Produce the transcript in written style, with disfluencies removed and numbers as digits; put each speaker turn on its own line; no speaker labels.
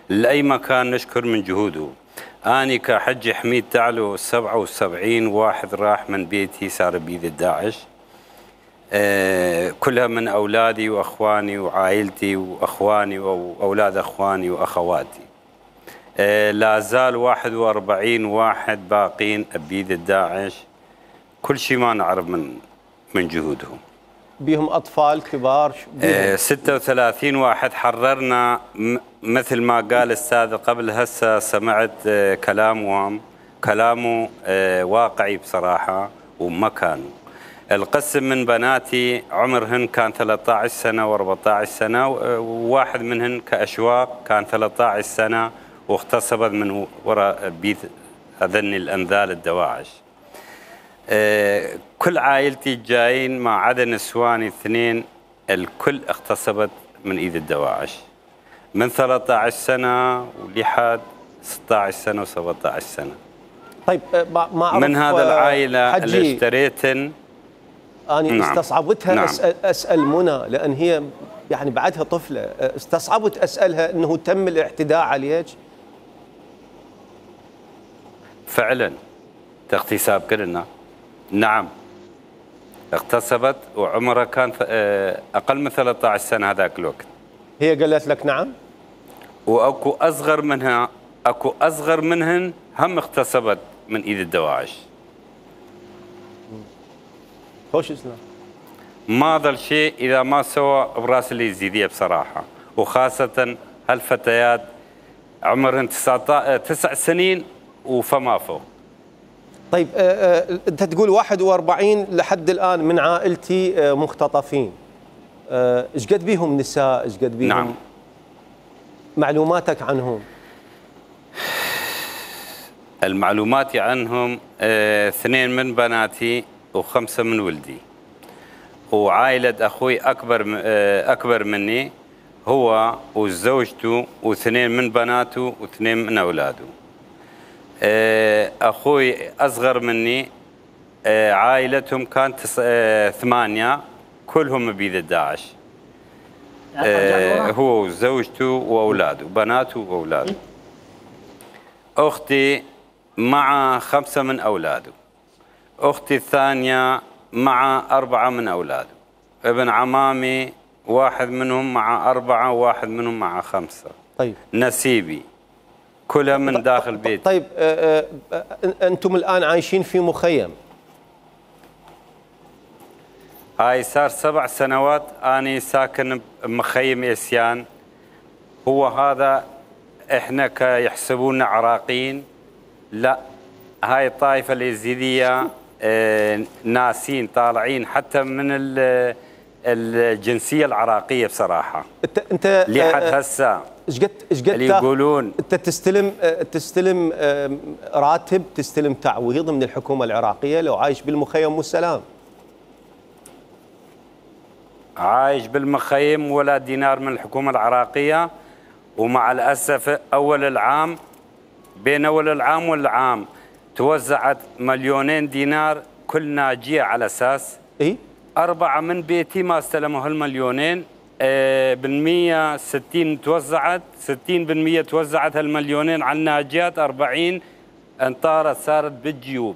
لأي مكان نشكر من جهوده. أنا كحجي حميد تعلو 77 واحد راح من بيتي صار بيد الداعش، كلها من أولادي وأخواني وعائلتي وأخواني وأولاد أخواني وأخواتي. لا زال 41 واحد باقين بيد الداعش، كل شيء ما نعرف من جهودهم.
بيهم أطفال كبار؟
36 واحد حررنا، مثل ما قال الأستاذ قبل. هسه سمعت كلامه واقعي بصراحة وما كانوا. القسم من بناتي عمرهن كان 13 سنة و14 سنة، وواحد منهن كأشواق كان 13 سنة واغتصبت من وراء بيت أذن الأنذال الدواعش. كل عائلتي جايين ما عدا نسواني 2، الكل اغتصبت من ايد الدواعش من 13 سنة ولحد 16 سنة و17 سنة.
طيب ما
من هذا العائلة اللي اشتريتن
أنا نعم. استصعبتها نعم. أسأل منى، لأن هي يعني بعدها طفلة، استصعبت أسألها أنه تم الاعتداء عليك؟
فعلا اغتصاب كلنا. نعم اغتصبت وعمرها كان أقل من 13 سنة هذاك الوقت.
هي قالت لك نعم؟
وأكو أصغر منها، أكو أصغر منهن هم اغتصبت من إيد الدواعش.
خوش اسلام.
ما ظل شيء إذا ما سوى براس اليزيدية بصراحة، وخاصة هالفتيات عمرهن 9 سنين وفما فوق.
طيب أنت تقول 41 لحد الآن من عائلتي مختطفين، ايش قد بيهم نساء؟ ايش قد بيهم؟
نعم.
معلوماتك عنهم؟
المعلومات عنهم 2 من بناتي و5 من ولدي، وعائلة أخوي أكبر مني، هو وزوجته و2 من بناته و2 من أولاده. أخوي أصغر مني عائلتهم كانت 8 كلهم بيد الداعش، هو وزوجته وأولاده، بناته وأولاده. أختي مع 5 من أولاده، أختي الثانية مع 4 من أولاده، ابن عمامي 1 منهم مع 4 و1 منهم مع 5.
طيب
نسيبي كلها من داخل بيتي.
طيب أنتم الآن عايشين في مخيم؟
هاي صار 7 سنوات أنا ساكن بمخيم إسيان. هو هذا إحنا يحسبونا عراقيين، لا، هاي الطائفة اليزيدية ناسين طالعين حتى من الجنسية العراقية بصراحة.
أنت
لحد هسه
ايش قد
اللي يقولون
انت تستلم راتب، تستلم تعويض من الحكومة العراقية لو عايش بالمخيم والسلام؟
عايش بالمخيم ولا دينار من الحكومة العراقية، ومع الأسف بين أول العام والعام توزعت 2 دينار كل ناجية، على أساس 4 من بيتي ما استلموا هال2 بالمية. 60 توزعت، 60% توزعت هال2 على الناجيات، 40 انطارت صارت بالجيوب.